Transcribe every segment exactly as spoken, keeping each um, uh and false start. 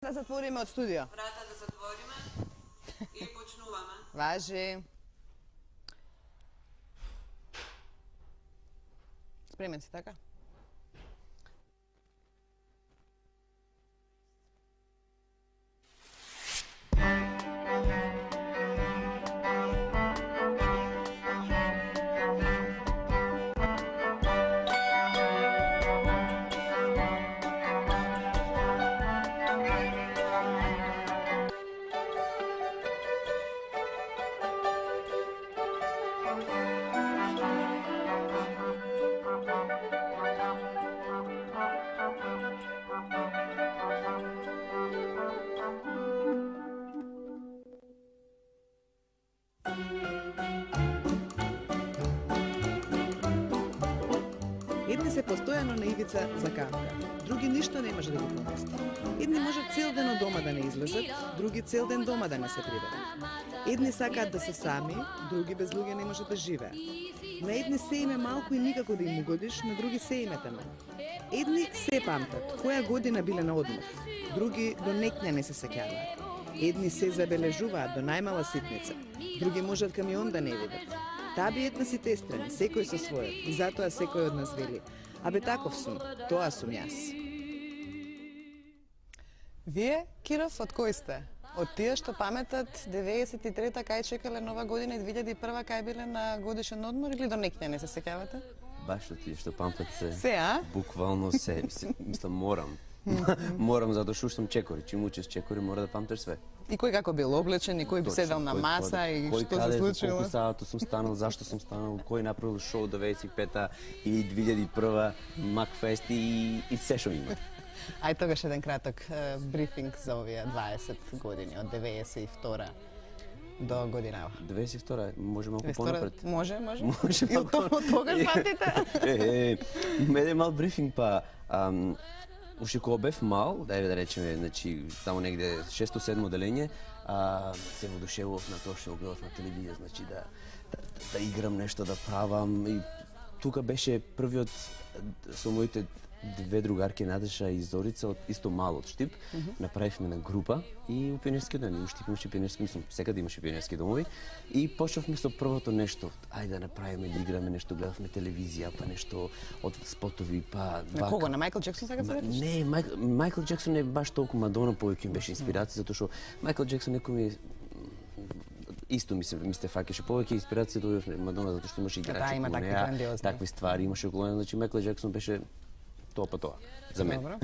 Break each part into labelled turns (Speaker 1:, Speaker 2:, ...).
Speaker 1: да затвориме од студио.
Speaker 2: Врата да затвориме и почнуваме.
Speaker 1: Важи. Спремен си, така?
Speaker 3: Едни се постојано на ивица за кавка, други ништо не може да ги помести. Едни можат цел ден од дома да не излезат, други цел ден дома да не се приберат. Едни сакаат да се сами, други без луѓе не можат да живеат. На едни се име малку и никако да им угодиш, на други се име таме. Едни се памтат, која година биле на одмор, други до некња не се сеќаваат. Едни се забележуваат до најмала ситница, други можат камион да не видат. Таа би етна си тестрани, секој со својот, и затоа секој од нас вели: абе таков сум, тоа сум јас.
Speaker 1: Вие, Киров, од кој сте? Од тие што паметат деветдесет и трета кај чекале нова година и две илјади и прва кај биле на годишен одмор, или до некња не се сеќавате?
Speaker 4: Баш од тие што памтат се.
Speaker 1: Се, а?
Speaker 4: Буквално се. Мислам, морам. Морам, затоа што сум чекори. Чим учиш чекори, мора да памтиш све.
Speaker 1: И кој како бил облечен, и кој би седел на маса, и што се случило?
Speaker 4: Колку саато сум станал, зашто сум станал, кој направил шоу деветдесет и пета и две илјади и прва, Макфест и, и се што има.
Speaker 1: Ај тогаш еден краток е, брифинг за овие дваесет години, од деветдесет и втора до годинава.
Speaker 4: деветдесет и втора, може малку понапред.
Speaker 1: Може, може.
Speaker 4: Може
Speaker 1: и од тогаш памтите?
Speaker 4: Е, е, меде мал брифинг, па... Ам, Уште кога бев мал, дај да речеме, значи, таму негде шесто-седмо делење, а, се водушевував на тоа што го гледав на телевизија, значи да, да, да играм нешто, да правам. И тука беше првиот со моите две другарки Надеша и Зорица, од исто мал од Штип, mm -hmm. направивме на група и у пионерскиот ден, у Штип имаше пионерски, мислам, секаде имаше пионерски домови, и почнавме со првото нешто, ајде да направиме, да играме нешто, гледавме телевизија, па нешто од спотови, па...
Speaker 1: На кого, на Майкл Джексон сега се ветиш?
Speaker 4: Не, Майкл, Майкл Джексон не баш толку, Мадона повеќе ми беше инспирација, затоа што Майкл Джексон некој ми исто ми се ми се фаќаше повеќе инспирација од Мадона, затоа што имаше играчи
Speaker 1: околу неа,
Speaker 4: такви ствари имаше околу неа, значи Майкл Джексон беше тоа па тоа за мен.
Speaker 1: Добро.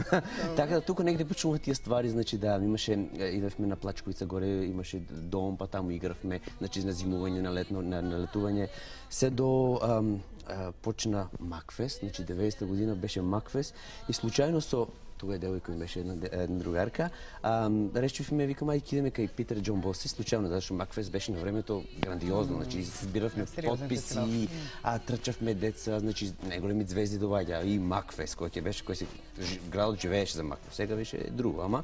Speaker 4: Така да тука негде почнуваат тие ствари, значи да имаше идевме на Плачковица горе, имаше дом, па таму игравме, значи на зимување, на летно, на, на летување, се до ам, а, почна Макфест, значи деветдесета година беше Макфест и случајно со тога е девојка ми беше една, една другарка, ам, речевме, викам, ај кидеме кај Питер Џон Боси, случајно, затоа што Макфест беше на времето грандиозно, значи збиравме потписи, а трчавме деца, значи најголеми звезди доваѓа и Макфест кој ќе беше, кој се градот живееше за Макфест, сега беше друго, ама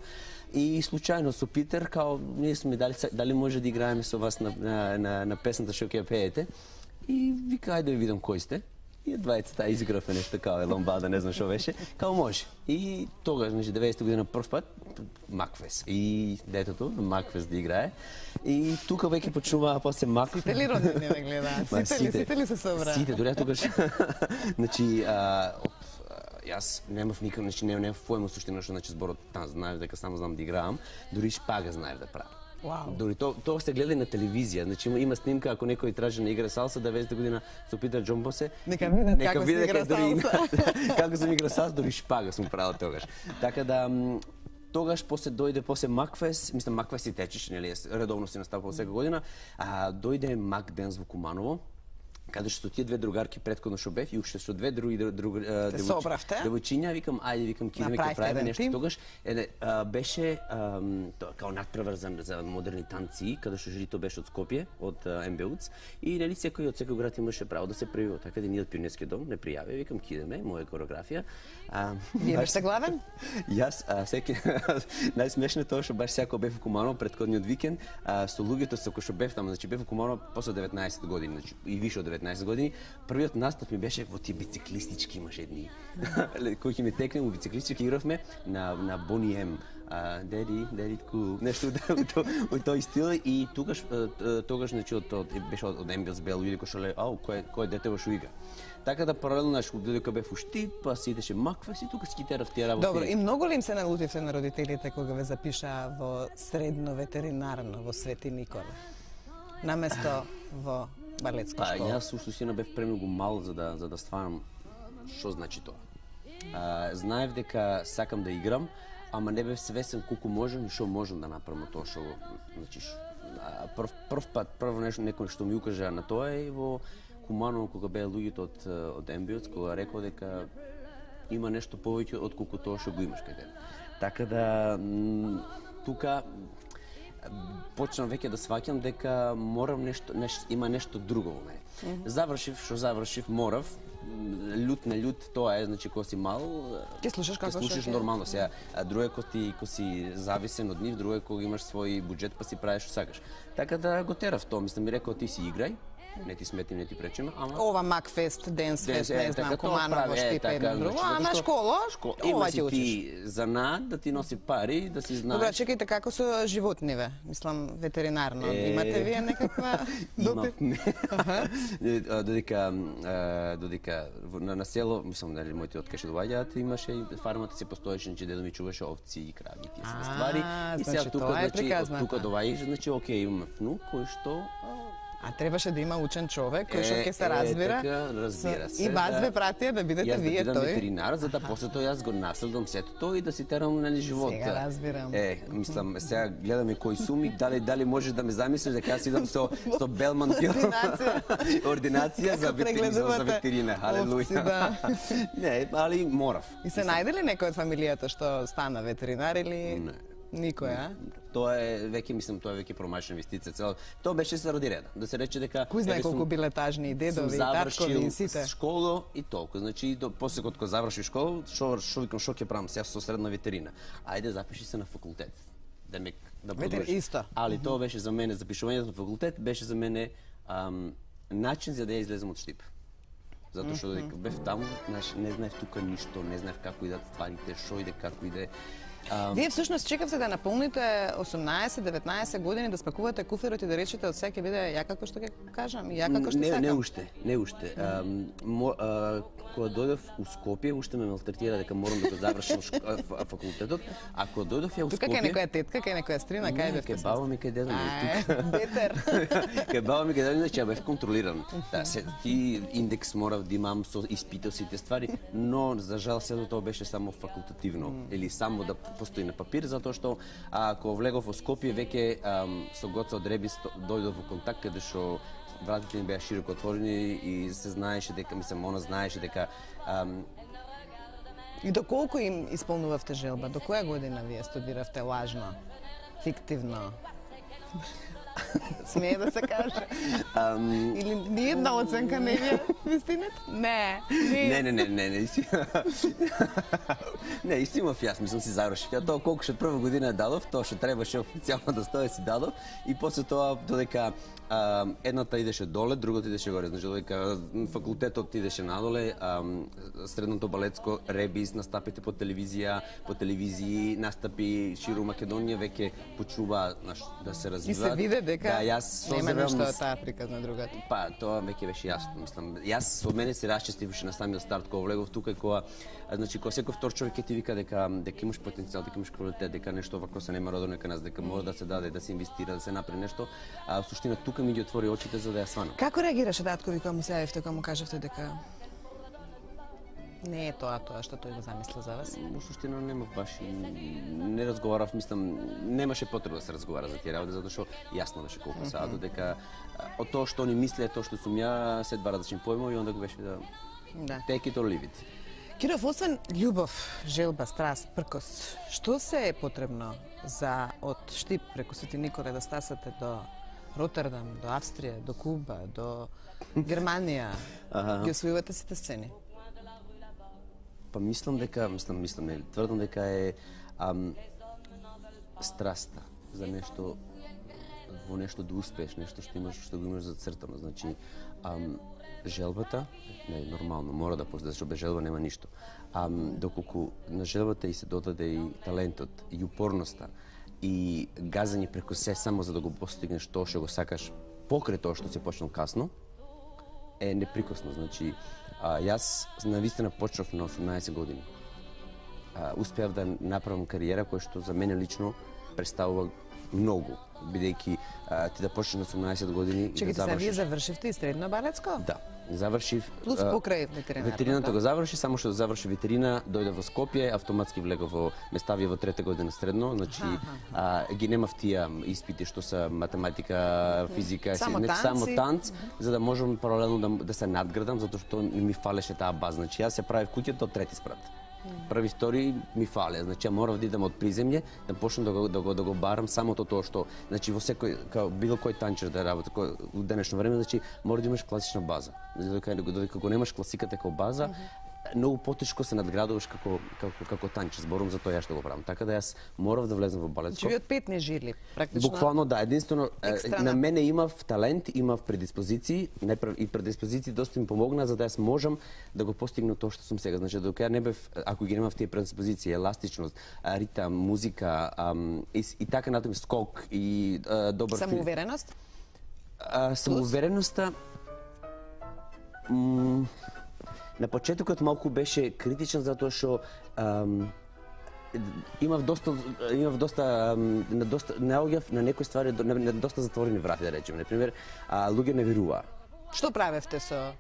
Speaker 4: и случајно со Питер, као ние сме дали дали може да играеме со вас на на на, на песната што ќе пеете. И вика, ајде да видам кој сте. И двајцата изигравме нешто као ламбада, не знам што беше, као може. И тогаш, значи деветдесета година прв пат Макфест. И детето Макфест да играе. И тука веќе почнува после Макфест.
Speaker 1: Сите ли роднини ме гледаат? Сите ли, сите ли се собра?
Speaker 4: Сите, дори тогаш. Значи, а, јас немав никак, значи немав појма суштина што значи зборот, там знаев дека само знам да играам, дури шпага знаев да правам.
Speaker 1: Wow.
Speaker 4: Дори тоа то се гледа на телевизија, значи има, има снимка ако некој тражи на игра салса деветдесета година со Питер Џон Боси.
Speaker 1: Нека видат како се игра салса.
Speaker 4: Како се игра салса, дури шпага сум правил тогаш. Така да тогаш после дојде после Макфест, мислам Макфест и течеше, нели, редовно се наставува секоја година, а дојде Мак Денс во Куманово, каде што тие две другарки претходно што бев и уште со две други девојчиња, викам ајде, викам кидеме ќе правиме нешто тогаш. Е, а, беше а, тоа као надпревар за, за модерни танци, каде што жрито беше од Скопје, од Ем Бе У Ц, и нели секој од секој град имаше право да се пријави, така да ние од пионерскиот дом не пријави, викам кидеме, моја кореографија. А,
Speaker 1: Вие беше главен?
Speaker 4: Јас, а, секи најсмешно тоа што баш секој бев во Куманово предходниот викенд, а, со луѓето со кои што бев таму, значи бев во Куманово после деветнаесет години, значи и више од деветнаесет деветнаесет години, првиот настап ми беше во тие бициклистички машини. Кој ќе ми текне во бициклистички игравме на на Бони Ем. Деди, деди кул, нешто во тој стил и тогаш тогаш значи од беше од Ембиос Бел луѓе кои шале, ау, кој кој дете во шуига. Така да паралелно наш додека бев у Штип, па си идеше Макфес и тука скитерав тие работи.
Speaker 1: Добро, и многу ли им се налутивте на родителите кога ве запишаа во средно ветеринарно во Свети Никола? Наместо во балетска
Speaker 4: Па,
Speaker 1: школа?
Speaker 4: јас суштина бев премногу мал за да за да стварам што значи тоа. А, знаев дека сакам да играм, ама не бев свесен колку можам и што можам да направам тоа што значи ш- а, прв прв пат прво нешто некој што ми укажа на тоа е во Куманово кога беа луѓето од од Ембиоц кога рекол дека има нешто повеќе од колку тоа што го имаш кај тебе. Така да м, тука почнам веќе да сваќам дека морам нешто, нешто има нешто друго во мене. Mm -hmm. Завршив што завршив, морав лют на лют, тоа е, значи кога си мал,
Speaker 1: Ќе слушаш како
Speaker 4: ќе слушаш
Speaker 1: што ќе.
Speaker 4: нормално сега. А друго е кога ти кога си зависен од нив, друго е кога имаш свој буџет па си правиш што сакаш. Така да го терав тоа, мислам ми рекол ти си играј, не ти сметим, не ти пречиме, ама
Speaker 1: Ова Макфест, Денсфест,
Speaker 4: Денс, е,
Speaker 1: не знам,
Speaker 4: така, тоа
Speaker 1: Куманово,
Speaker 4: прави, е,
Speaker 1: Штип,
Speaker 4: така,
Speaker 1: едно друго,
Speaker 4: значи,
Speaker 1: ама
Speaker 4: затоа што-
Speaker 1: школа,
Speaker 4: Шко...
Speaker 1: ова
Speaker 4: Има
Speaker 1: ќе
Speaker 4: си
Speaker 1: учиш.
Speaker 4: ти занаат да ти носи пари, да си знаеш.
Speaker 1: Добра, чекајте како со животниве, мислам ветеринарно.
Speaker 4: Е,
Speaker 1: Имате вие некаква допир?
Speaker 4: Имавме. Не, а, Додека а, додека во- на, на село, мислам нели моите откаше доаѓаат, имаше и фармата се постоеше, значи дедо ми чуваше овци и крави и тие се
Speaker 1: А,
Speaker 4: ствари. И сега
Speaker 1: значи,
Speaker 4: тука
Speaker 1: тоа е
Speaker 4: значи од
Speaker 1: приказната.
Speaker 4: тука доаѓаш, значи окей, имаме внук кој што
Speaker 1: А требаше да има учен човек кој што
Speaker 4: Е,
Speaker 1: ќе се
Speaker 4: е,
Speaker 1: разбира.
Speaker 4: така, разбира
Speaker 1: Со-
Speaker 4: се,
Speaker 1: И вас
Speaker 4: да.
Speaker 1: ве пратија да бидете
Speaker 4: Јас да
Speaker 1: вие
Speaker 4: бидам
Speaker 1: тој.
Speaker 4: ветеринар, за да после тоа јас го наследам сето тоа и да си терам нели живот.
Speaker 1: Сега разбирам.
Speaker 4: Е, мислам, сега гледаме кој сум и дали дали можеш да ме замислиш дека јас идам со со Белман пил.
Speaker 1: Ординација.
Speaker 4: Ординација за
Speaker 1: Како
Speaker 4: ветеринар, за
Speaker 1: прегледувате
Speaker 4: ветерина. Халелуја.
Speaker 1: овци, да.
Speaker 4: Не, али морав.
Speaker 1: И се најде ли некој од фамилијата што стана ветеринар или
Speaker 4: Не.
Speaker 1: никој, а?
Speaker 4: Тоа е веќе мислам тоа е веќе промашена инвестиција цела. Тоа беше заради реда. Да се рече дека
Speaker 1: Кој знае
Speaker 4: еве сум-
Speaker 1: колку биле тажни и
Speaker 4: сум
Speaker 1: дедови и таткови
Speaker 4: завршил
Speaker 1: и сите.
Speaker 4: школа и толку. Значи до после кога завршив школа, што што викам што ќе правам сега со средна ветерина. Ајде запиши се на факултет. Да ме да
Speaker 1: Ветер-
Speaker 4: продолжиш.
Speaker 1: исто.
Speaker 4: Али тоа беше за мене запишувањето на факултет беше за мене ам, начин за да ја излезем од Штип. Затоа што додека бев таму, знаеш, не знаев тука ништо, не знаев како идат стварите, што иде, како иде. Ам,
Speaker 1: Вие всушност чекавте да наполните осумнаесет деветнаесет години, да спакувате куферот и да речете од сега ќе биде ја како што ќе кажам и ја како што
Speaker 4: не,
Speaker 1: сакам.
Speaker 4: не уште, не уште. Ам, мо, а, кога дојдов у Скопје, уште ме малтретира дека морам да го завршам шк- а, ф- а, факултетот, а кога дојдов ја у
Speaker 1: Тука кај
Speaker 4: Скопје,
Speaker 1: некоја тетка, кај некоја стрина, кај
Speaker 4: не,
Speaker 1: бевте?
Speaker 4: кај баба ми, кај дедо ми,
Speaker 1: Ај,
Speaker 4: тука.
Speaker 1: бетер.
Speaker 4: Кај баба ми, кај дедо ми, значи ја бев контролиран. Да, се, ти индекс морав да имам со испитал сите ствари, но за жал сето тоа беше само факултативно или само да постои на папир, затоа што а, кога влегов во Скопје веќе ам, со Гоца од Ребис то- дојдов во контакт каде што вратите ми беа широко отворени и се знаеше дека, мислам, она знаеше дека ам,
Speaker 1: И доколку им исполнувавте желба? До која година вие студиравте лажно, фиктивно? Смее да се каже.
Speaker 4: ам,
Speaker 1: Или ни една оценка не ви е вистината? Не.
Speaker 4: Не, не, не, не, не, иси... не, иси имав јас, мислам си завршив. Ја тоа колку што прва година ја дадов, тоа што требаше официјално да стои си дадов и после тоа додека а, едната идеше доле, другата идеше горе, значи додека факултетот идеше надоле, а, средното балетско ребис, настапите по телевизија, по телевизии, настапи широ Македонија веќе почнува знаеш, да се
Speaker 1: И
Speaker 4: развиваат.
Speaker 1: се виде дека
Speaker 4: да, јас
Speaker 1: нема
Speaker 4: созревам
Speaker 1: ништо
Speaker 4: на
Speaker 1: од таа приказна другата.
Speaker 4: Па, тоа веќе беше јасно, мислам. Јас од мене се расчестиваше на самиот старт кога влегов тука и кога а, значи кога секој втор човек ќе ти вика дека дека имаш потенцијал, дека имаш квалитет, дека нешто вако се нема родено кај нас, дека мора да се даде, да се инвестира, да се направи нешто, а во суштина тука ми ги отвори очите за да ја сванам.
Speaker 1: Како реагираше татко ви кога му се јавивте, кога му кажавте дека не е тоа тоа што тој го замисля за вас?
Speaker 4: Во суштина немав баш и не разговарав, мислам, немаше потреба да се разговара за тие работи затоа што јасно беше колку се адо дека а, од тоа што они мислеа, тоа што сум ја, се два различни појмови и онда го беше да
Speaker 1: Да.
Speaker 4: take it or leave it.
Speaker 1: Киров, освен љубов, желба, страст, пркос, што се е потребно за од Штип преку Свети Николе да стасате до Ротердам, до Австрија, до Куба, до Германија?
Speaker 4: Аха.
Speaker 1: Ги освојувате сите сцени?
Speaker 4: Па мислам дека, мислам, мислам, не, тврдам дека е ам, страста за нешто, во нешто да успееш, нешто што имаш, што го имаш зацртано. Значи, ам, желбата, не, нормално, мора да постои, защото без желба нема ништо. А доколку на желбата и се додаде и талентот, и упорноста, и газање преку се само за да го постигнеш тоа што го сакаш, покрај тоа што си почнал касно, е неприкосно. Значи, а, јас навистина почнав на осумнаесет години. А, успеав да направам кариера која што за мене лично представува многу, бидејќи а, ти да почнеш на осумнаесет години.
Speaker 1: Чекайте,
Speaker 4: да
Speaker 1: сега вие
Speaker 4: завршиш...
Speaker 1: завршивте и средно балетско?
Speaker 4: Да. Завршив...
Speaker 1: Плюс покрај ветеринарната.
Speaker 4: Ветерината го заврши, само што заврши ветерина, дојде во Скопје, автоматски влега во Меставија во трета година средно, значи а, ги немав тие испити што се математика, физика,
Speaker 1: само
Speaker 4: си,
Speaker 1: танци,
Speaker 4: само танц, за да можам паралелно да, да се надградам, затоа што ми фалеше таа база. Значи јас се правев куќата од трети спрат. Први втори ми фале, значи ја морав да идам од приземје, да почнам да го, да го, да го барам самото тоа што, значи во секој, као било кој танчер да работи кој, во денешно време, значи мора да имаш класична база. Додека додека го немаш класиката како база, многу потешко се надградуваш како како како танчер, зборам за тоа ја што го правам. Така да јас морав да влезам во балетско.
Speaker 1: Значи ви од пет не жили, практично.
Speaker 4: Буквално да, единствено
Speaker 1: Екстрана.
Speaker 4: на мене имав талент, имав предиспозиции, не и предиспозиции доста ми помогна за да јас можам да го постигнам тоа што сум сега. Значи докато ја не бев, ако ги немав тие предиспозиции, еластичност, ритам, музика, ам, и, и така натаму скок и а, добар
Speaker 1: Самоувереност?
Speaker 4: А, самоувереноста м, на почетокот малку беше критичен затоа што ам, имав доста имав доста ам, на доста наоѓав на некои ствари на, на доста затворени врати, да речеме. На пример, а, луѓе не веруваа.
Speaker 1: Што правевте со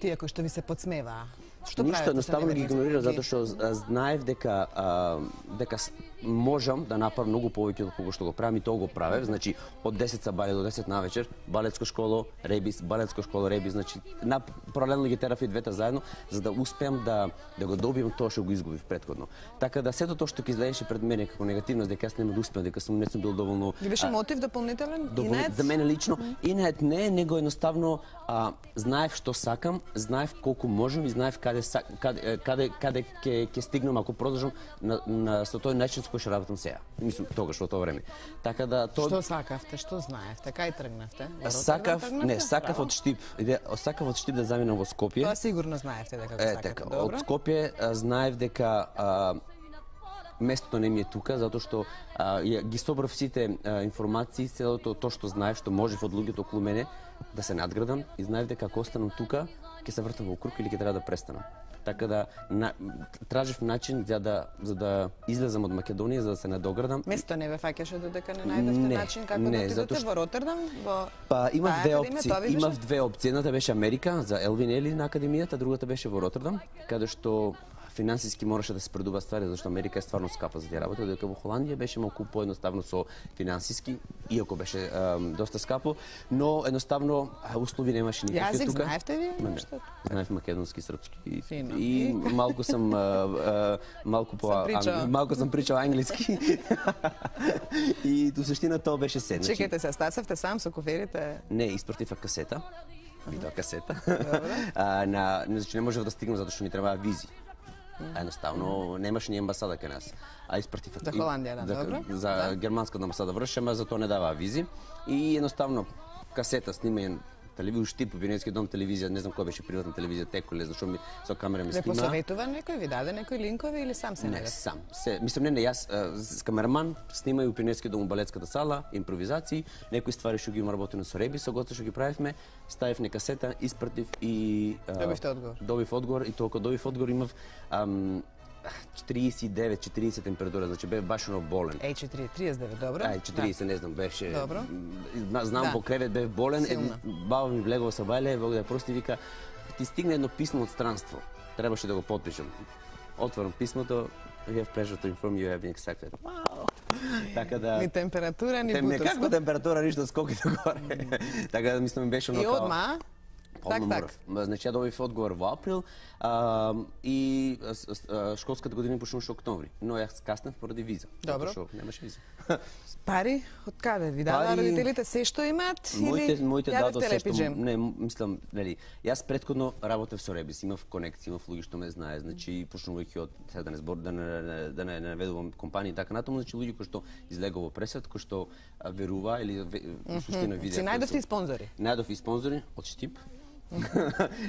Speaker 1: тие кои што ви се подсмеваа? Што
Speaker 4: Ништо,
Speaker 1: правите со
Speaker 4: едноставно ги
Speaker 1: неверниците?
Speaker 4: игнорирав затоа што а, знаев дека а, дека с- можам да направам многу повеќе од кога што го правам и тоа го правев. Значи од десет сабајле до десет навечер, балетско школо, ребис, балетско школо, ребис, значи на паралелно ги терав и двете заедно за да успеам да да го добием тоа што го изгубив претходно. Така да сето тоа што ќе изгледаше пред мене како негативност дека јас нема да успеам, дека сум не сум бил доволно
Speaker 1: Ви беше мотив дополнителен?
Speaker 4: Довол...
Speaker 1: Инет?
Speaker 4: За мене лично, инет не, него едноставно а, знаев што сакам, знаев колку можам и знаев каде са- каде каде каде ќе ќе стигнам ако продолжам на, на со тој начин со кој што работам сега. Мислам тогаш во тоа време. Така да тоа
Speaker 1: Што сакавте, што знаевте, кај тргнавте? Во Роттердам
Speaker 4: сакав,
Speaker 1: тргнавте?
Speaker 4: не, сакав
Speaker 1: Браво.
Speaker 4: од Штип. Иде, сакав од Штип да заминам во Скопје.
Speaker 1: Тоа сигурно знаевте дека го
Speaker 4: Е,
Speaker 1: сакате,
Speaker 4: така,
Speaker 1: добро?
Speaker 4: од Скопје а, знаев дека а, местото не ми е тука, затоа што а, ја, ги собрав сите а, информации, целото тоа што знаев, што можев од луѓето околу мене да се надградам и знаев дека ако останам тука, ќе се вртам во круг или ќе треба да престанам. Така да на, тражев начин за да за да излезам од Македонија за да се надоградам.
Speaker 1: Место не ве фаќаше додека не најдовте
Speaker 4: Не,
Speaker 1: начин како
Speaker 4: не,
Speaker 1: да отидете
Speaker 4: затоа што-
Speaker 1: во Роттердам, во
Speaker 4: Па имав
Speaker 1: таа
Speaker 4: две
Speaker 1: академија,
Speaker 4: опции.
Speaker 1: тоа ви беше?
Speaker 4: Имав две опции. Едната беше Америка за Елвин Ели на академијата, другата беше во Роттердам, каде што финансиски мораше да се предува ствари, зашто Америка е стварно скапа за тие работи, додека во Холандија беше малку поедноставно со финансиски, иако беше ем, доста скапо, но едноставно а, услови немаше никакви
Speaker 1: Јазик
Speaker 4: тука.
Speaker 1: знаевте ви?
Speaker 4: Ма не,
Speaker 1: Што?
Speaker 4: знаев македонски, српски и,
Speaker 1: Фино.
Speaker 4: и
Speaker 1: И?
Speaker 4: малку сам а, а, малку по
Speaker 1: Сам причал.
Speaker 4: ан- малку сам причал англиски. И до суштина тоа беше се. Значи,
Speaker 1: Чекайте се, стасавте сам со коферите.
Speaker 4: не, испратив касета, видео касета.
Speaker 1: Добро.
Speaker 4: а, на, значи не можев да стигнам затоа што ни требаа визи. А едноставно немаше ни амбасада кај нас. А испратив
Speaker 1: За Холандија, да, добро.
Speaker 4: За
Speaker 1: Да.
Speaker 4: германската амбасада врши, ама за тоа не даваа визи. И едноставно касета снимање телевизија, Штип, Пионерски дом телевизија, не знам која беше приватна телевизија, Теколе, зашто ми со камера ми
Speaker 1: Ве
Speaker 4: снима.
Speaker 1: посоветува некој, ви даде некои линкови или сам се
Speaker 4: Не,
Speaker 1: најдете?
Speaker 4: сам. Се, мислам, не, не, јас а, с камераман снимај у Пионерски дом у балетската сала, импровизации, некои ствари што ги има работено со Реби, со Гоце што ги правевме, ставив на касета, испратив и а,
Speaker 1: Добивте одговор.
Speaker 4: Добив одговор и толку добив одговор имав ам, тридесет и девет четиридесет температура, значи бев баш оно болен.
Speaker 1: Еј, четири, триесет и девет, добро?
Speaker 4: Ај, четиридесет, не знам, беше...
Speaker 1: Добро.
Speaker 4: М, Знам
Speaker 1: Да.
Speaker 4: по кревет, бев болен,
Speaker 1: Силно.
Speaker 4: еди, баба ми влегува со бајле, Бог да ја прости, вика, ти стигне едно писмо од странство, требаше да го подпишам. Отворам писмото, we have pleasure to inform you have been accepted. Вау! Така да...
Speaker 1: Ни температура, ни
Speaker 4: Тем,
Speaker 1: бутост.
Speaker 4: некаква температура, ништо скоки догоре. Така да мислам беше оно
Speaker 1: И
Speaker 4: као...
Speaker 1: одма, так,
Speaker 4: Одма
Speaker 1: так.
Speaker 4: морав. Ма, Значи ја добив одговор во април а, и а, с- а, школската година почнуваше октомври, но јас скаснав поради виза.
Speaker 1: Добро.
Speaker 4: Затоа што немаше виза.
Speaker 1: Пари, од каде? Ви дадаа
Speaker 4: Пари-
Speaker 1: родителите се што имаат
Speaker 4: Моите
Speaker 1: или
Speaker 4: моите дадо
Speaker 1: јадевте
Speaker 4: се што
Speaker 1: лепиџем?
Speaker 4: не м- мислам, нели, јас претходно работев со Ребис, имав конекции, имав луѓе што ме знаат, значи почнувајќи од сега да не збор да не не- да не, не наведувам компании и така натаму, значи луѓе кои што излегува во пресвет, кои што а, верува или ве- во суштина видеа.
Speaker 1: Си најдовте и спонзори?
Speaker 4: Најдов и спонзори од Штип,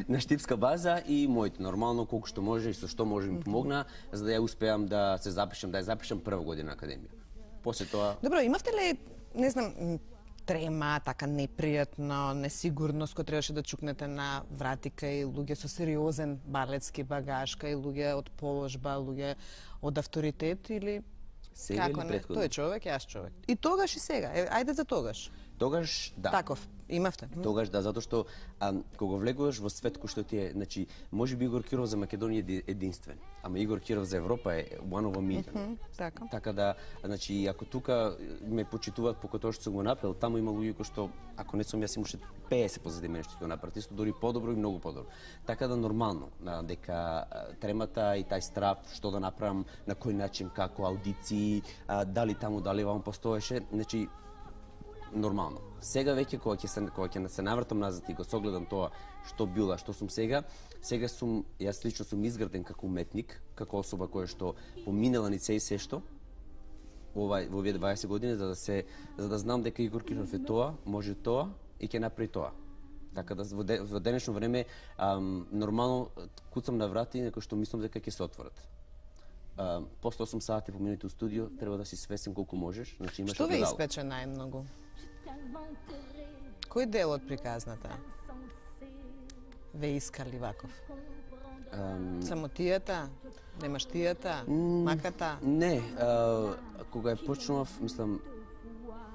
Speaker 4: на штипска база и моите нормално колку што може и со што може ми помогна за да ја успеам да се запишам, да ја запишам прва година академија. После тоа
Speaker 1: Добро, имавте ли, не знам, трема, така непријатно, несигурност кој требаше да чукнете на врати кај луѓе со сериозен балетски багаж, кај луѓе од положба, луѓе од авторитет или
Speaker 4: сега или
Speaker 1: како не?
Speaker 4: претходно?
Speaker 1: Тој човек, јас човек. И тогаш и сега. Е, ајде за тогаш.
Speaker 4: Тогаш да.
Speaker 1: Таков имавте.
Speaker 4: Тогаш да, затоа што а, кога влегуваш во свет кој што ти е, значи, можеби Игор Киров за Македонија е единствен, ама Игор Киров за Европа е one of a million.
Speaker 1: Mm -hmm, така.
Speaker 4: Така да, значи, ако тука ме почитуваат по тоа што сум го направил, таму има луѓе кои што, ако не сум јас, имаше песет позади мене што го направат, исто дури подобро и многу подобро. Така да нормално, дека тремата и тај страв, што да направам, на кој начин, како аудиции, а, дали таму, дали ваму постоеше, значи, нормално. Сега веќе кога ќе се кога ќе се навртам назад и го согледам тоа што била, што сум сега, сега сум јас лично сум изграден како уметник, како особа која што поминала низ се и се што ова во овие дваесет години за да се за да знам дека Игор Киров е тоа, може тоа и ќе направи тоа. Така да во, де, во денешно време ам, нормално куцам на врати некои што мислам дека ќе се отворат. Uh, после осум сати поминати у студио, треба да си свесен колку можеш. Значи, имаш
Speaker 1: Што ве
Speaker 4: огледало.
Speaker 1: испече најмногу? Кој дел од приказната ве искали ваков?
Speaker 4: Um,
Speaker 1: Самотијата, немаштијата, маката?
Speaker 4: Не, а, кога ја почнував, мислам,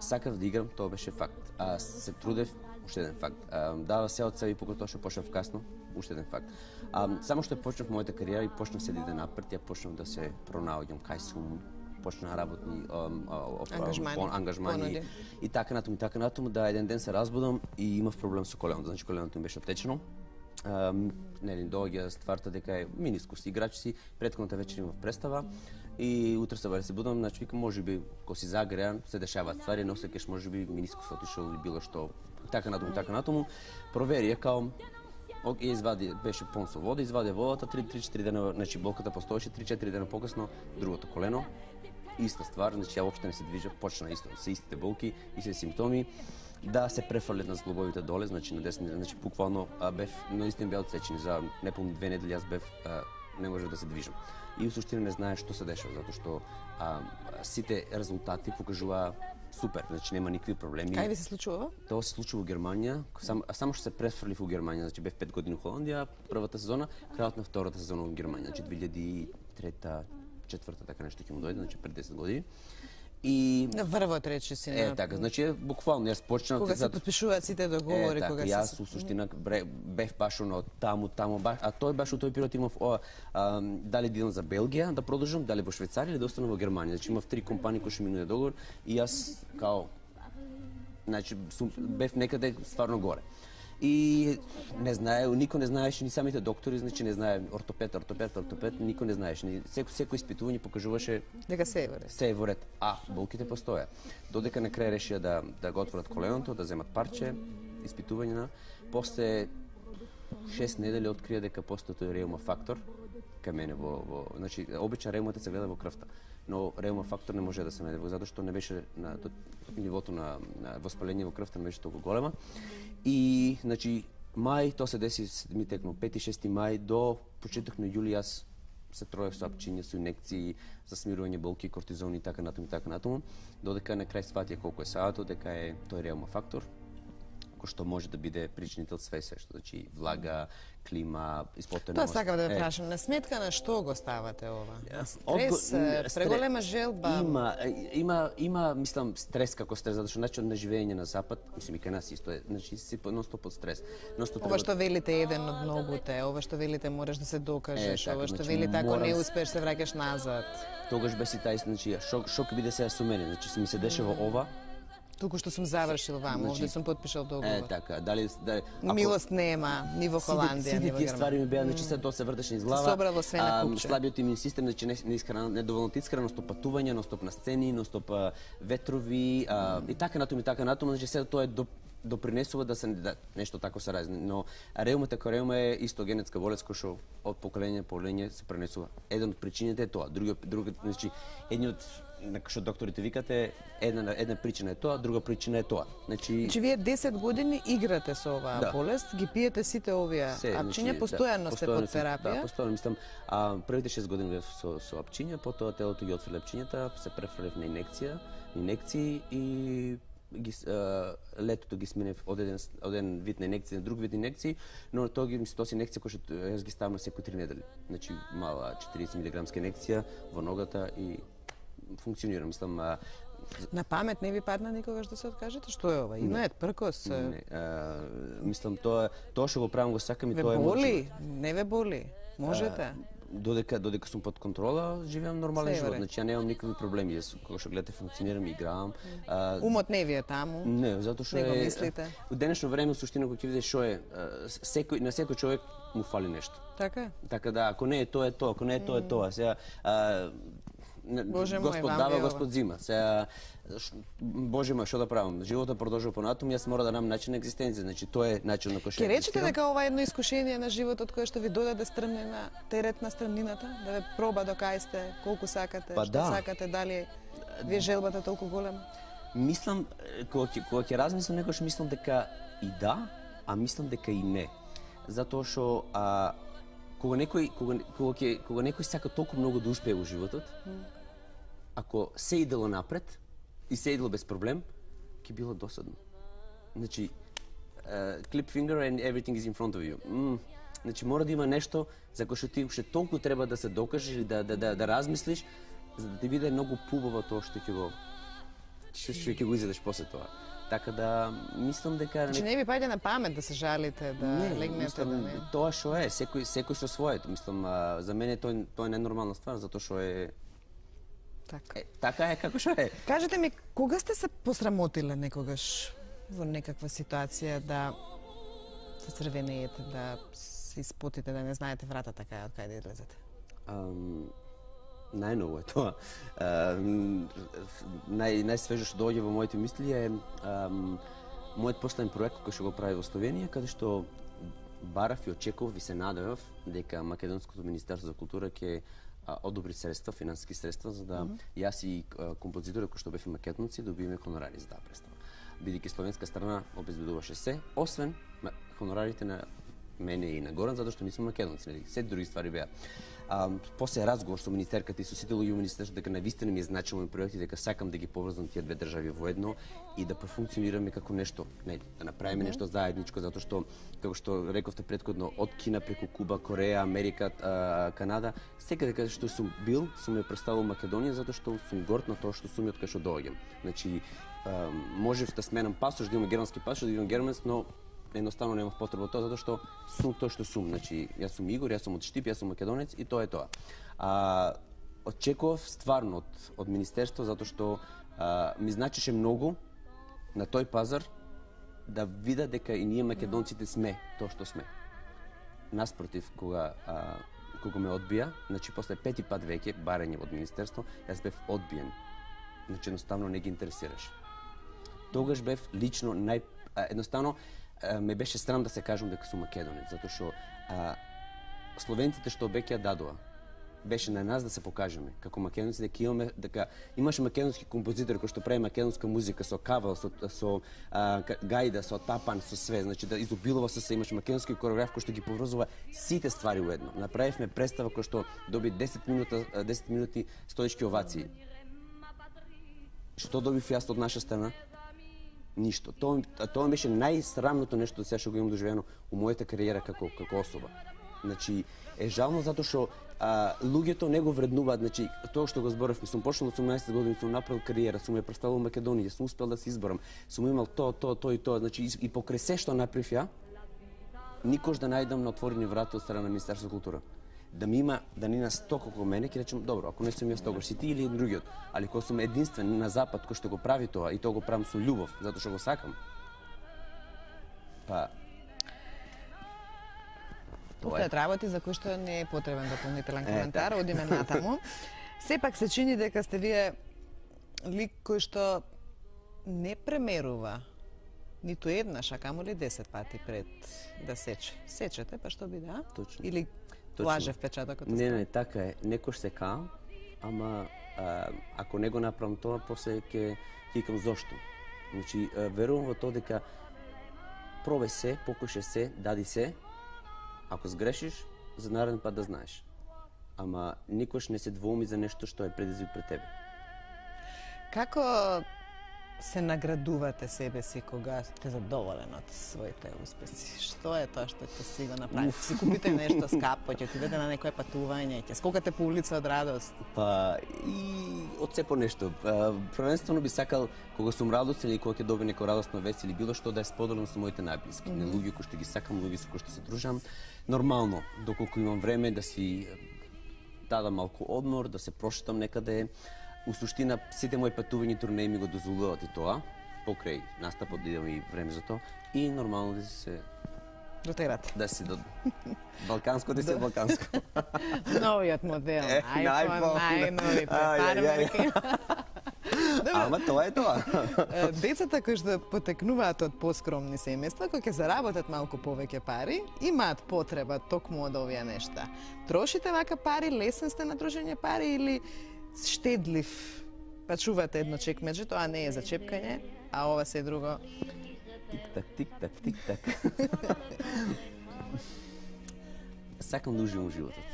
Speaker 4: сакав да играм, тоа беше факт. А се трудев, уште еден факт. А, дава се од себе и покај тоа што почнав касно, уште еден факт. А, само што почнав мојата кариера и почнав се да идам напред, ја почнав да се пронаоѓам кај сум, почна работни um, uh,
Speaker 1: ангажмани,
Speaker 4: пон, ангажмани
Speaker 1: понуди.
Speaker 4: И така натаму, и така натаму, да еден ден се разбудам и имав проблем со коленото, значи коленото ми беше оттечено. Um, нели доаѓа стварта дека е минискус, играч си, претходната вечер имав представа и утре се баре се будам, значи викам можеби кога си загреан се дешаваат ствари, не осеќаш можеби минискус отишол или било што, така натаму, така натаму. Провери ја као Ок, извади, беше пон со вода, извади водата, три-четири дена, значи болката постоеше, три-четири дена покасно, другото колено, иста ствар, значи ја воопште не се движа, почна исто, се истите болки, истите симптоми, да се префрлет на зглобовите доле, значи на десни, значи буквално а, бев, наистина беа отсечени, за неполни две недели јас бев, а, не можев да се движам. И в суштина не знаеш што се дешава, затоа што а, сите резултати покажуваа супер, значи нема никакви проблеми.
Speaker 1: Кај ви се случува?
Speaker 4: Тоа се случува во Германија, сам, само што се префрлив во Германија, значи бев пет години во Холандија, првата сезона, крајот на втората сезона во Германија, значи две илјади и трета, четврта, така нешто ќе му дојде, значи пред десет години. И
Speaker 1: На врвот речи си.
Speaker 4: Е,
Speaker 1: на...
Speaker 4: така, значи буквално јас почнав
Speaker 1: Кога се
Speaker 4: за
Speaker 1: подпишуваат сите договори,
Speaker 4: е, така,
Speaker 1: кога
Speaker 4: јас
Speaker 1: се...
Speaker 4: у суштина бре- бев баш оно таму, таму, баш, а тој баш у тој период имав о, а, дали да идам за Белгија да продолжам, дали во Швајцарија или да останам во Германија. Значи имав три компании кои што минуе договор и јас као значи сум, бев некаде стварно горе. И не знае, никој не знаеше, ни самите доктори, значи не знае ортопед, ортопед, ортопед, никој не знаеше. Ни секој секој испитување покажуваше
Speaker 1: Дека се е во ред.
Speaker 4: се е во ред. А, болките постоја. Додека на крај решија да да го отворат коленото, да земат парче, испитување на, после шест недели открија дека постои тој реума фактор кај мене во во значи обичен реумата се гледа во крвта, но реума фактор не може да се најде затоа што не беше на до, нивото на, на воспаление во крвта не беше толку голема. И значи мај тоа се деси ми текно пети шести мај до почеток на јули јас се троев со апчиња, со инекции за смирување болки, кортизон и така натаму и така натаму, додека на крај сватија колку е саато, дека е тој реума фактор кој што може да биде причинител све се што, значи влага, клима, испотена.
Speaker 1: Тоа сакам да ве прашам, на сметка на што го ставате ова? На
Speaker 4: Одго-
Speaker 1: стрес, е,
Speaker 4: стре-
Speaker 1: преголема желба?
Speaker 4: Има, има, има, мислам, стрес како стрес, затоа што начинот на живење на запад, мислам и кај нас исто е, значи си нон-стоп под стрес. Нон-стоп
Speaker 1: Ова
Speaker 4: треба-
Speaker 1: што велите еден од многуте, ова што велите мораш да се докажеш,
Speaker 4: Е, така,
Speaker 1: ова што
Speaker 4: значи,
Speaker 1: велите ако не
Speaker 4: морам-
Speaker 1: успееш се враќаш назад.
Speaker 4: Тогаш беше тај, значи, шок, шок биде сега со мене, значи ми се дешава ова.
Speaker 1: Туку што сум завршил ваму,
Speaker 4: Значи,
Speaker 1: овде сум потпишал
Speaker 4: Е,
Speaker 1: договор.
Speaker 4: така, дали, дали ако-
Speaker 1: Милост нема, ни во Холандија,
Speaker 4: Сите,
Speaker 1: ни
Speaker 4: сите
Speaker 1: во
Speaker 4: тие
Speaker 1: Германија.
Speaker 4: ствари ми беа, значи се тоа се вртеше низ глава.
Speaker 1: собрало све на
Speaker 4: А,
Speaker 1: купче.
Speaker 4: Слабиот имун систем, значи не, не искрена, недоволно искрено, стоп патување, но стоп на сцени, но стоп а, ветрови а, и така натаму и така натаму, значи се тоа е до допринесува да се да, нешто тако се разни, но реумата како реума е исто генетска болест која што од поколение на поколение се пренесува. Еден од причините е тоа, другиот другиот значи едниот што докторите викате, една една причина е тоа, друга причина е тоа. Значи,
Speaker 1: Значи вие десет години играте со оваа
Speaker 4: Да.
Speaker 1: болест, ги пиете сите овие
Speaker 4: се,
Speaker 1: апчиња,
Speaker 4: значи,
Speaker 1: постојано
Speaker 4: да,
Speaker 1: сте
Speaker 4: постојано
Speaker 1: под
Speaker 4: сум-
Speaker 1: терапија.
Speaker 4: Да, постојано мислам, а првите шест години бев со со апчиња, потоа телото ги отфрли апчињата, се префрлев на инекција, инекции и ги с- а, летото ги сменев од еден од еден вид на инекција на друг вид инекции, но тоа ги мислам тоа се инекција кои што јас ги ставам секои три недели. Значи мала четириесет милиграмска инекција во ногата и функционира, мислам, а,
Speaker 1: На памет не ви падна никогаш да се откажете? Што е ова? Инует, пркос?
Speaker 4: не, а, мислам тоа тоа што го правам го сакам и
Speaker 1: Ве
Speaker 4: тоа е мој живот.
Speaker 1: боли? Не ве боли? Можете?
Speaker 4: Додека додека сум под контрола, живеам нормален
Speaker 1: Се е во
Speaker 4: живот.
Speaker 1: ред.
Speaker 4: Значи ја немам никакви проблеми. Јас кога што гледате функционирам, играам. А,
Speaker 1: Умот не ви е таму?
Speaker 4: не, затоа што
Speaker 1: Не го
Speaker 4: е
Speaker 1: мислите?
Speaker 4: во денешно време суштина кога ќе видиш што е, а, секој на секој човек му фали нешто.
Speaker 1: Така е?
Speaker 4: Така да, ако не е тоа е тоа, ако не е тоа е тоа. Сега а, не-
Speaker 1: Боже мој,
Speaker 4: Господ
Speaker 1: вам
Speaker 4: дава,
Speaker 1: ви ова.
Speaker 4: Господ зима. Сега ш- Боже мој, што да правам? Животот продолжува понатаму, јас мора да намам начин на екзистенција. Значи тоа е начин на кој што
Speaker 1: Ке речете
Speaker 4: екзистирам.
Speaker 1: дека ова е едно искушение на животот кое што ви додаде стрмне на терет на стрмнината, да ве проба до кај сте, колку сакате,
Speaker 4: Па
Speaker 1: што
Speaker 4: да.
Speaker 1: сакате, дали ви е желбата толку голема?
Speaker 4: Мислам, е, кога ќе кога ќе размислам некош мислам дека и да, а мислам дека и не. Затоа што а кога некој кога кога ќе кога некој сака толку многу да успее во животот, ако се идело напред и се идело без проблем, ќе било досадно. Значи, uh, clip finger and everything is in front of you. Mm. Значи мора да има нешто за кое што ти уште толку треба да се докажеш или да да да, да размислиш за да ти биде многу пубаво тоа што ќе го што што ќе го изедеш после тоа. Така да мислам дека
Speaker 1: Значи не ви паѓа на памет да се жалите, да легнете,
Speaker 4: мислам,
Speaker 1: да не.
Speaker 4: тоа што е, секој секој со своето. Мислам, а, за мене тоа тоа е ненормална ствар затоа што е
Speaker 1: Така.
Speaker 4: е, така е како што е.
Speaker 1: Кажете ми, кога сте се посрамотиле некогаш во некаква ситуација да се црвенеете, да се испотите, да не знаете вратата кај од кај да излезете?
Speaker 4: Ам, најново е тоа. Ам, нај најсвежо што доаѓа во моите мисли е ам, мојот последен проект кој што го прави во Словенија, каде што барав и очекував и се надевав дека Македонското министерство за култура ќе а, одобри средства, финансиски средства за да mm -hmm. јас и а, композиторот кој што бевме македонци добиеме хонорари за таа представа. Бидејќи словенска страна обезбедуваше се, освен ма- хонорарите на мене и на Горан, затоа што ние сме македонци, нели? Се други ствари беа. А, после разговор со министерката и со сите луѓе во министерството дека навистина ми е значимо проекти, дека сакам да ги поврзам тие две држави во едно и да профункционираме како нешто, нели, да направиме нешто заедничко, затоа што како што рековте претходно, од Кина преку Куба, Кореја, Америка, а, Канада, секаде каде што сум бил, сум ја представил Македонија затоа што сум горд на тоа што сум и од кај што доаѓам. Значи, а, можев да сменам пасош, да имам германски пасош, да имам германс, но едноставно немав потреба тоа затоа што сум тоа што сум. Значи, јас сум Игор, јас сум од Штип, јас сум македонец и тоа е тоа. А, очекував стварно од, од министерство затоа што а, ми значеше многу на тој пазар да вида дека и ние македонците сме тоа што сме. Наспротив, кога а, кога ме одбија, значи после пети пат веќе барање од министерство, јас бев одбиен. Значи едноставно не ги интересираше. Тогаш бев лично нај а, едноставно а, ме беше срам да се кажам дека сум македонец, затоа што а, словенците што обеќа дадоа беше на нас да се покажеме како македонци дека имаме дека имаше македонски композитори кои што прави македонска музика со кавал, со со а, гајда, со тапан, со све, значи да изобилува со се, имаше македонски кореограф кој што ги поврзува сите ствари уедно. Направивме представа која што доби десет минута десет минути стоечки овации. Што добив јас од наша страна? Ништо. Тоа тоа беше најсрамното нешто сега што го имам доживено у мојата кариера како како особа. Значи е жално затоа што а, луѓето не го вреднуваат, значи тоа што го зборавме, сум почнал од осумнаесет години, сум направил кариера, сум ја представил Македонија, сум успел да се изборам, сум имал тоа, тоа, тоа и тоа, значи и, и покрај се што направив ја, никош да најдам на отворени врата од страна на Министерството за култура. Да ми има, да не нас сто како мене, ќе речем, добро, ако не сум јас тогаш си ти или другиот, али кога сум единствен на запад кој што го прави тоа и тоа го правам со љубов, затоа што го сакам. Па
Speaker 1: Постојат работи за кои што не е потребен дополнителен
Speaker 4: Е,
Speaker 1: коментар,
Speaker 4: така.
Speaker 1: одиме натаму. Сепак се чини дека сте вие лик кој што не премерува ниту еднаш, а камоли десет пати пред да сече. Сечете, па што биде, а?
Speaker 4: Точно.
Speaker 1: Или
Speaker 4: Точно.
Speaker 1: лаже впечатокот?
Speaker 4: Не, не, така е. Некош се каам, ама а, ако не го направам тоа, после ќе викам зошто. Значи, а, верувам во тоа дека пробај се, покушај се, дади се. Ако сгрешиш, за нареден пат да знаеш. Ама никош не се двоуми за нешто што е предизвик пред тебе.
Speaker 1: Како се наградувате себе си кога сте задоволен од своите успеси? Што е тоа што ќе си го направите? Си купите нешто скапо, ќе отидете на некое патување, ќе скокате по улица од радост?
Speaker 4: Па и од се по нешто. Првенствено би сакал кога сум радостен или кога ќе добиам некоја радостна вест или било што да ја споделам со моите најблиски. Mm -hmm. Луѓе кои што ги сакам, луѓе со кои што се дружам. Нормално, доколку имам време да си дадам малку одмор, да се прошетам некаде. У суштина, сите мои патувања и турнеи ми го дозволуваат и тоа, покрај настапот да идам и време за тоа, и нормално да се...
Speaker 1: Дотерате.
Speaker 4: Да си до... Балканско да се балканско.
Speaker 1: Новиот модел, iPhone, најновите, фармерки.
Speaker 4: Ама тоа е тоа.
Speaker 1: Децата кои што потекнуваат од поскромни семејства, кои ќе заработат малку повеќе пари, имаат потреба токму од овие нешта. Трошите вака пари, лесен сте на трошење пари или штедлив? Па чувате едно чекмеџе, тоа не е за чепкање, а ова се друго.
Speaker 4: Тик-так, тик-так, тик-так. Сакам да уживам животот.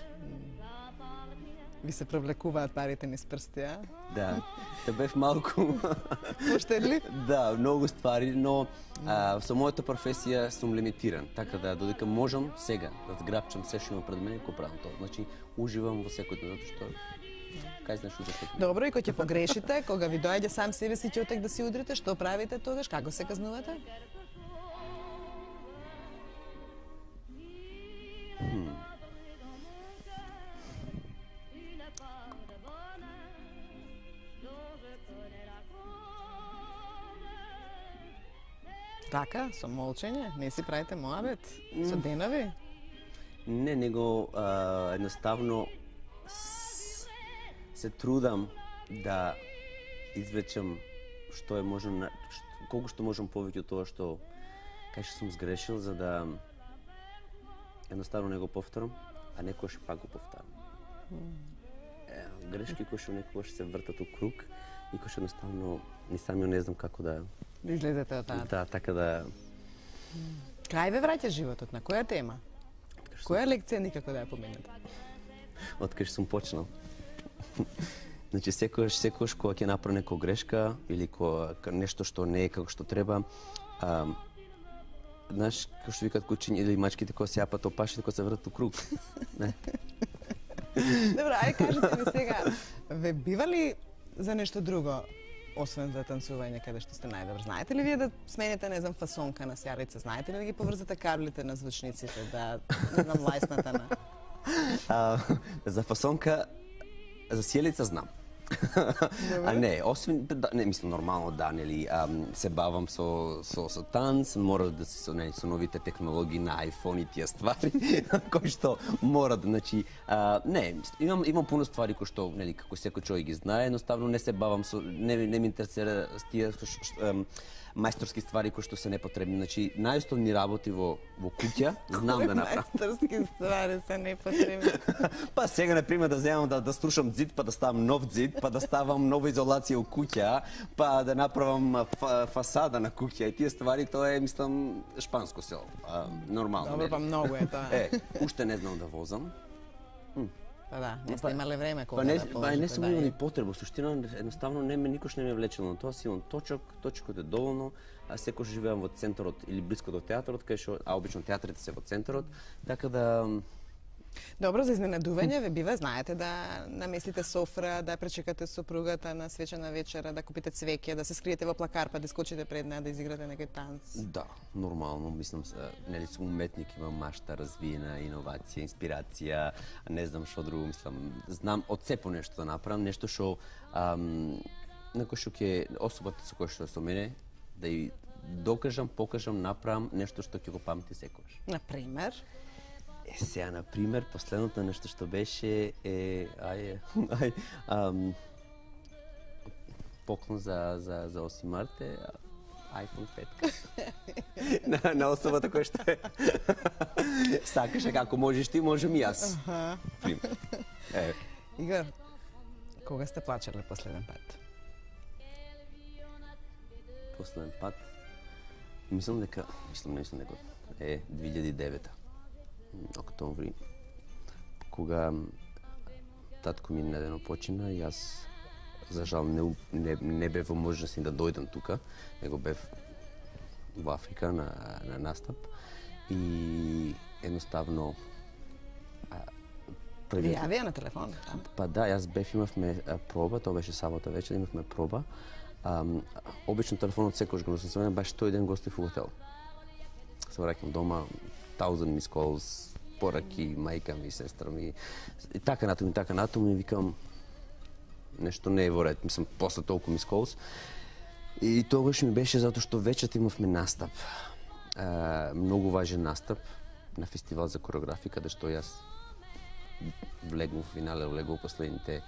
Speaker 1: Ви се провлекуваат парите низ прсти, а?
Speaker 4: Да, да бев малку...
Speaker 1: Поштедлив?
Speaker 4: Да, многу ствари, но а, со мојата професија сум лимитиран, така да додека можам сега да зграбчам се што има пред мене, го правам тоа. Значи, уживам во секој ден, затоа што кај знаеш уда што...
Speaker 1: Добро, и кога ќе погрешите, кога ви доаѓа сам себе си ќотек да си удрите, што правите тогаш? Како се казнувате?
Speaker 4: Хм.
Speaker 1: Така, со молчење? Не си правите моабет? Со денови?
Speaker 4: Не, него а, едноставно се трудам да извлечам што е можно, колку што можам повеќе од тоа што кај што сум сгрешил, за да едноставно не го повторам, а некојаш пак го повторам. Е, грешки кои што некојаш се вртат у круг и кои што едноставно ни самиот не знам како да
Speaker 1: Да излезете од таа.
Speaker 4: Да, така да...
Speaker 1: Кај ве враќа животот? На која тема? Која лекција никако да ја поминете?
Speaker 4: Откај сум почнал. Значи, секојаш, секојаш кога ќе направи некоја грешка или кога нешто што не е како што треба, а, знаеш, како што викаат кучиња или мачките кога се јапат опашите, кога се вртат у круг. Не.
Speaker 1: Добро, ај кажете ми сега, ве бива ли за нешто друго, освен за танцување, каде што сте најдобар? Знаете ли вие да смените, не знам, фасонка на сјарица? Знаете ли да ги поврзате каблите на звучниците, да, не знам, лајсната на...
Speaker 4: А, за фасонка, за сјелица знам. А не, освен, да, не, мислам, нормално да, нели, а, се бавам со, со, со танц, мора да се со, не, со новите технологии на iPhone и тие ствари, кои што мора да, значи, а, не, имам, имам пуно ствари кои што, нели, како секој човек ги знае, едноставно не се бавам со, не, не ми интересира с тие мајсторски ствари кои што се непотребни. Значи, најосновни работи во, во куќа, знам да направам.
Speaker 1: Мајсторски ствари се непотребни?
Speaker 4: Па сега, например, да земам да, да струшам зид, па да ставам нов зид, па да ставам нова изолација у куќа, па да направам фа, фасада на куќа и тие ствари, тоа е, мислам, шпанско село. А, нормално.
Speaker 1: Добро, па многу е тоа.
Speaker 4: Е, уште не знам да возам.
Speaker 1: Па да, не сте имале време кога
Speaker 4: па не,
Speaker 1: да положите.
Speaker 4: Па не сум
Speaker 1: да,
Speaker 4: имал ни потребу, суштина едноставно не ме никош не ме влечело на тоа, си имам точок, точкот е доволно, а секој живеам во центарот или блиско до театарот, кај што а обично театрите се во центарот, така да
Speaker 1: Добро, за изненадување ве бива, знаете да наместите софра, да пречекате сопругата на свечена вечера, да купите цвеќе, да се скриете во плакар, па да скочите пред неа да изиграте некој танц.
Speaker 4: Да, нормално, мислам се, нели сум уметник, имам машта, развиена, иновација, инспирација, не знам што друго, мислам, знам од се по нешто да направам, нешто што ам, некој што ќе особата со која што со мене да и докажам, покажам, направам нешто што ќе го памти секогаш.
Speaker 1: Например?
Speaker 4: Е, сега, например, последното нешто што беше е, ај, ај, ам, поклон за, за, за осми март е iPhone пет. на, на особата која што е. Сакаше, како можеш ти, можем и јас.
Speaker 1: Аха.
Speaker 4: Пример. Е.
Speaker 1: Игор, Кога сте плачеле последен пат?
Speaker 4: Последен пат, мислам дека, мислам, не мислам дека е две илјади и девета, октомври, кога татко ми недено почина и јас за жал не, не, не бев во можност да дојдам тука, него бев во Африка на, на настап и едноставно
Speaker 1: Ви јавија на телефон? Да?
Speaker 4: Па да, јас бев, имавме проба, тоа беше сабота вечер, имавме проба. Um, обично телефонот секојаш го носам со мене, баш тој ден гостив во хотел. Се враќам дома, thousand missed calls, пораки, мајка ми, сестра ми, и така натаму, и така натаму, и викам, нешто не е во ред, мислам, после толку missed calls. И тогаш ми беше затоа што вечерта имавме настап, uh, многу важен настап на фестивал за кореографија, каде што јас влегнув в финале, влегнув последните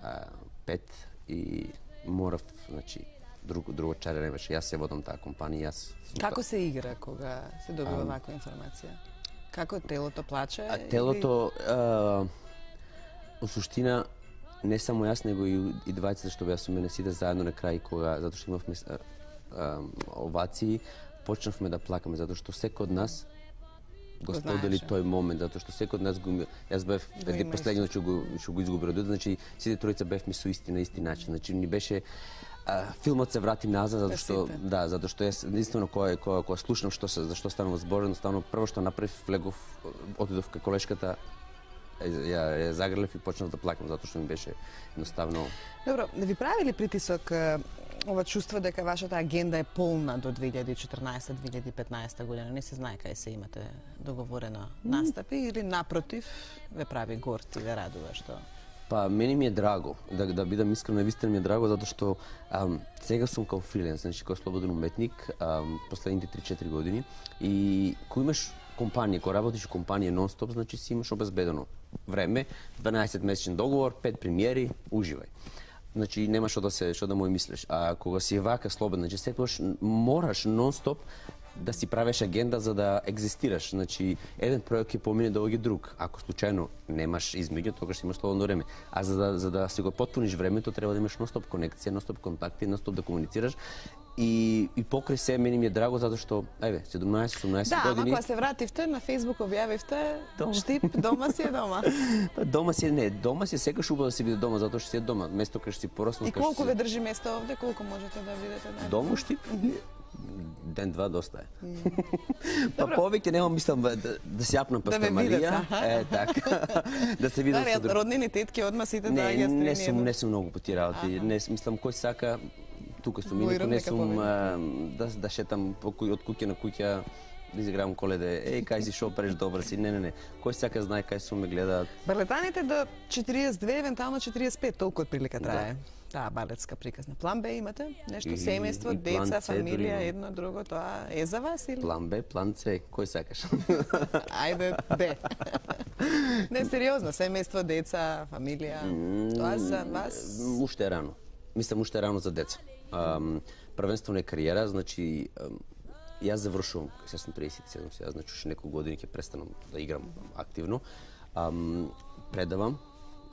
Speaker 4: uh, пет и морав, значи, друго, друго чаре не беше. Јас се водам таа компанија, јас...
Speaker 1: Како се игра кога се добива ваква информација? Како телото плаче?
Speaker 4: А, телото, или... а, у суштина, не само јас, него и, и двајцата што беа со мене сите заедно на крај, кога, затоа што имавме а, а, овации, почнавме да плакаме, затоа што секој од нас го сподели тој момент, затоа што секој од нас го... Јас бев еден последниот што го, што го изгуби родот, значи сите тројца бевме со исти на исти начин. Значи ни беше а, филмот се врати назад затоа што да, затоа што јас единствено кога кога кога слушнав што се за што станува збор, едноставно прво што направив, влегов, отидов кај колешката, ја, ја загрелев и почнав да плакам затоа што ми беше едноставно.
Speaker 1: Добро, да ви прави ли притисок ова чувство дека вашата агенда е полна до две илјади и четрнаесетта - две илјади и петнаесетта година? Не се знае кај се имате договорено настапи или напротив ве прави горд и ве радува што?
Speaker 4: Па, мене ми е драго, да, да бидам искрено, вистина ми е драго, затоа што ам, сега сум као фриленс, значи као слободен уметник, ам, последните три-четири години, и кога имаш компанија, кога работиш во компанија нон-стоп, значи си имаш обезбедено време, дванаесет месечен договор, пет премиери, уживај. Значи нема што да се што да му мислиш. А кога си вака слободен, значи секогаш мораш нон-стоп да си правиш агенда за да екзистираш. Значи еден проект ќе помине да оѓе друг. Ако случајно немаш измеѓу, тогаш имаш слободно време. А за да за да си го потпуниш времето, треба да имаш нон-стоп конекција, нон-стоп контакти, нон-стоп да комуницираш. И и покрај се мене ми е драго затоа што ајде седумнаесет-осумнаесет
Speaker 1: да,
Speaker 4: години.
Speaker 1: Да, ама кога се вративте на Facebook објавивте штип дома си е дома.
Speaker 4: Па дома си е не, дома си секогаш убаво да си биде дома затоа што си е дома, место кај што си пораснал.
Speaker 1: И колку ве држи место овде, колку можете да видите на
Speaker 4: дома штип? Ден-два доста е. Па повеќе нема мислам да, да се јапнам пастамарија. Е, така. Да се видам
Speaker 1: со друг. Роднини тетки одма сите да ги стрени.
Speaker 4: Не сум, не сум многу по тие работи. Не мислам кој сака тука сум и не сум да да шетам од куќа на куќа, да изигравам коледе. Еј, кај си шо преш добар си. Не, не, не. Кој сака знае кај сум ме гледаат.
Speaker 1: Барлетаните до четириесет и две, евентуално четириесет и пет, толку од прилика трае. Таа балетска приказна. План Б имате? Нешто семејство, деца, фамилија, едно, друго, тоа е за вас или?
Speaker 4: План Б, план С, кој сакаш?
Speaker 1: Ајде, Б. Не, сериозно, семејство, деца, фамилија, тоа за вас?
Speaker 4: Уште е рано. Мислам, уште е рано за деца. Првенствено е кариера, значи, јас завршувам, сега сум триесет и седум, сега, значи, уште неколку години ќе престанам да играм активно. Предавам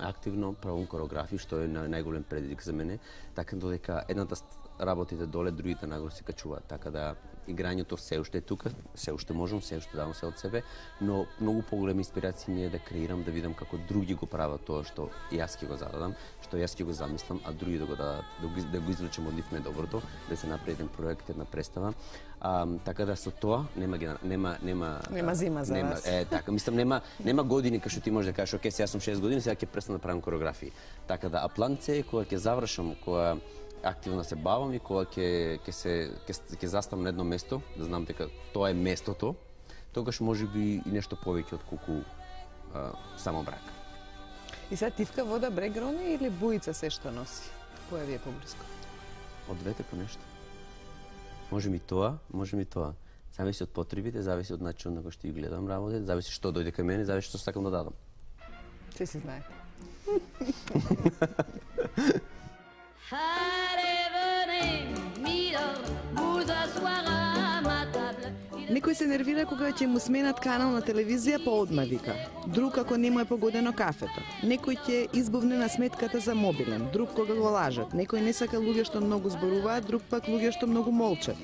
Speaker 4: активно, правам кореографии, што е најголем предизвик за мене, така додека едната работите доле, другите нагоре се качуваат, така да играњето се уште е тука, се уште можам, се уште давам се од себе, но многу поголема инспирација ми е да креирам, да видам како други го прават тоа што јас ќе го зададам, што јас ќе го замислам, а други да го дадат, да го, да го извлечем од нив најдоброто, да се направи еден проект, една представа. А, така да со тоа нема нема нема
Speaker 1: нема зима за
Speaker 4: нема,
Speaker 1: вас.
Speaker 4: Е, така, мислам нема нема години кај што ти можеш да кажеш, оке, сега сум шест години, сега ќе престанам да правам кореографии. Така да, а план С кога ќе завршам, кога активно се бавам и кога ќе ќе се ќе ќе заставам на едно место, да знам дека тоа е местото, тогаш можеби и нешто повеќе од колку а, само брак.
Speaker 1: И сега тивка, вода, брег, рони или буица се што носи? Која ви е поблиско?
Speaker 4: Од двете по нешто. Може ми тоа, може ми тоа. Зависи од потребите, зависи од начинот на кој што ги гледам работите, зависи што дојде кај мене, зависи што сакам да дадам.
Speaker 1: Се си знае.
Speaker 3: Некој се нервира кога ќе му сменат канал на телевизија, па одма вика. Друг ако не му е погодено кафето. Некој ќе избувне на сметката за мобилен, друг кога го лажат. Некој не сака луѓе што многу зборуваат, друг пак луѓе што многу молчат.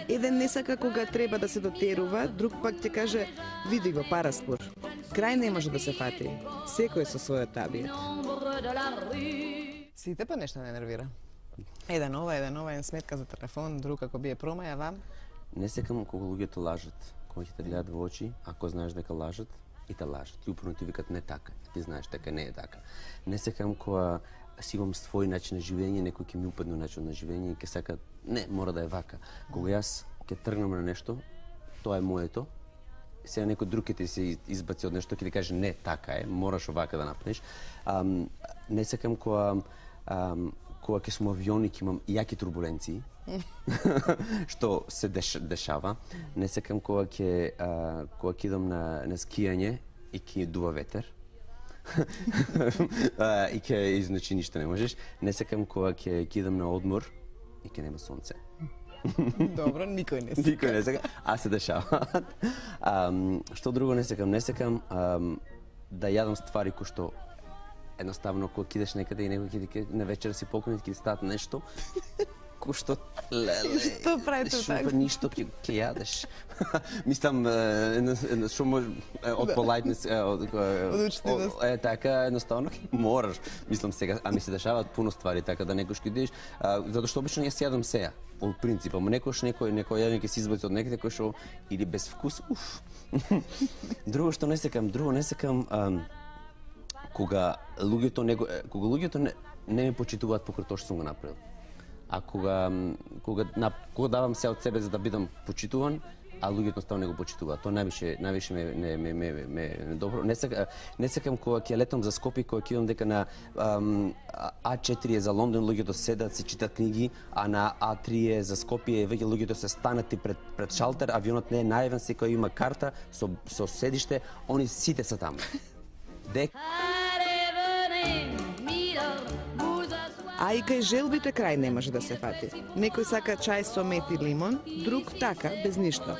Speaker 3: Еден не сака кога треба да се дотерува, друг пак ќе каже види го параспор. Крај не може да се фати. Секој со својот табиет.
Speaker 1: Сите па нешто не нервира. Еден ова, еден ова, еден сметка за телефон, друг ако бие промаја вам.
Speaker 4: Не секам кога луѓето лажат, кога ќе те гледат во очи, ако знаеш дека лажат, и те лажат. И упорно ти викат не така, ти знаеш дека не е така. Не секам кога си имам свој начин на живење, некој ќе ми упадне начин на живење и ќе сака не, мора да е вака. Кога јас ќе тргнам на нешто, тоа е моето. Сега некој друг ќе ти се избаци од нешто, ќе ти каже не, така е, мораш овака да направиш. Ам, не секам кога ам, кога ќе сум авиони, ќе имам јаки турбуленции, што се деш, дешава. Не секам кога ќе кога ќе идам на, на скијање и ќе дува ветер. И ќе изначи ништо не можеш. Не секам кога ќе идам на одмор и ќе нема сонце.
Speaker 1: Добро, никој не сека.
Speaker 4: Никој не сека, а се дешава. Um, што друго не секам? Не секам um, да јадам ствари кои што едноставно кога кидеш некаде и некој ќе ти на вечер си покренет ќе ти стат нешто кој што леле.
Speaker 1: Што правите така?
Speaker 4: Ништо ќе ќе јадеш. Мислам што може од politeness од
Speaker 1: учтивост.
Speaker 4: Е така едноставно мораш. Мислам сега, а ми се дешаваат пуно ствари така да некош ќе идеш, затоа што обично јас јадам сеја. По принцип, ама некош некој некој јадење ќе се избаци од некаде кој што или без вкус. Уф. Друго што не секам, друго не секам кога луѓето него кога луѓето не, не ме почитуваат покрај тоа што сум го направил. А кога кога на, кога давам се од себе за да бидам почитуван, а луѓето ставно не го почитуваат. Тоа највише највише ме ме ме ме ме добро. Не сакам не сакам кога ќе летам за Скопје, кога ќе идам дека на ам, А четири е за Лондон, луѓето седат, се читат книги, а на А три е за Скопје, веќе луѓето се станати пред пред шалтер, авионот не е најавен, секој има карта со со седиште, они сите се таму. Дек
Speaker 3: А и кај желбите крај не може да се фати. Некој сака чај со мед и лимон, друг така, без ништо.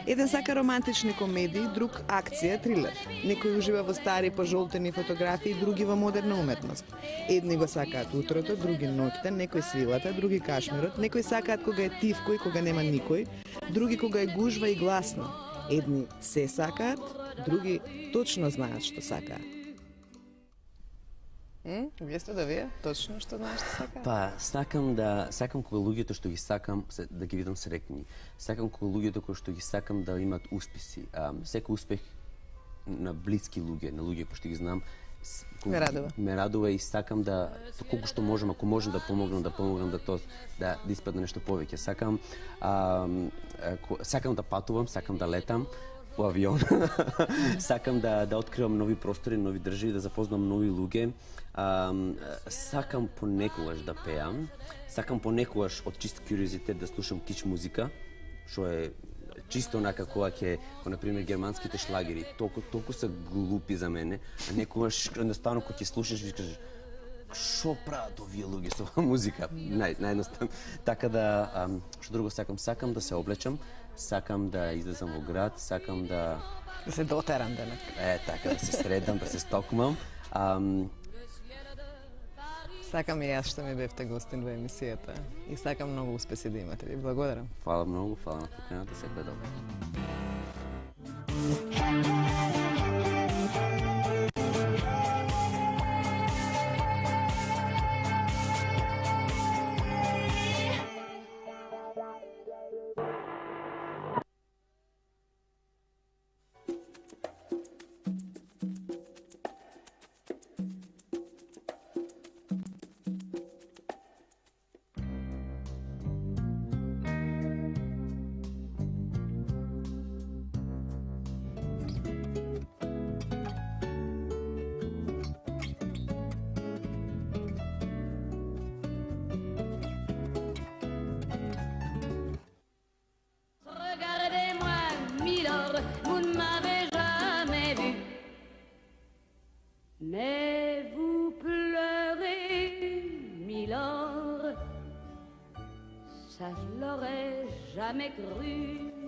Speaker 3: Еден сака романтични комедии, друг акција, трилер. Некој ужива во стари пожолтени фотографии, други во модерна уметност. Едни го сакаат утрото, други ноќта, некој свилата, други кашмирот, некој сакаат кога е тивко и кога нема никој, други кога е гужва и гласно. Едни се сакаат, други точно знаат што сакаат.
Speaker 1: М? Вие сте да вие? Точно што знаеш што сакаат?
Speaker 4: Па, сакам да сакам кога луѓето што ги сакам се, да ги видам среќни. Сакам кога луѓето кои што ги сакам да имаат успеси. А, секој успех на блиски луѓе, на луѓе кои што ги знам,
Speaker 1: ме радува.
Speaker 4: Ме радува и сакам да колку што можам, ако можам да помогнам, да помогнам да тоа да, да испадне нешто повеќе. Сакам а, сакам да патувам, сакам да летам по авион. Сакам да да откривам нови простори, нови држави, да запознам нови луѓе. Um, сакам понекогаш да пеам, сакам понекогаш од чист куриозитет да слушам кич музика, што е чисто онака кога ќе, како на пример германските шлагери, толку толку се глупи за мене, а некогаш едноставно кога ќе слушаш и кажеш што прават овие луѓе со оваа музика? Нај наједноставно. Така да, um, што друго сакам, сакам да се облечам, сакам да излезам во град, сакам да
Speaker 1: да се дотерам денек.
Speaker 4: Е, така да се средам, да се стокмам. Um,
Speaker 1: Сакам и јас што ми бевте гостин во емисијата и сакам многу успеси да имате. Ви благодарам.
Speaker 4: Фала многу, фала на поканата, секој добро.
Speaker 5: Mais vous pleurez, Milord, ça je l'aurais jamais cru.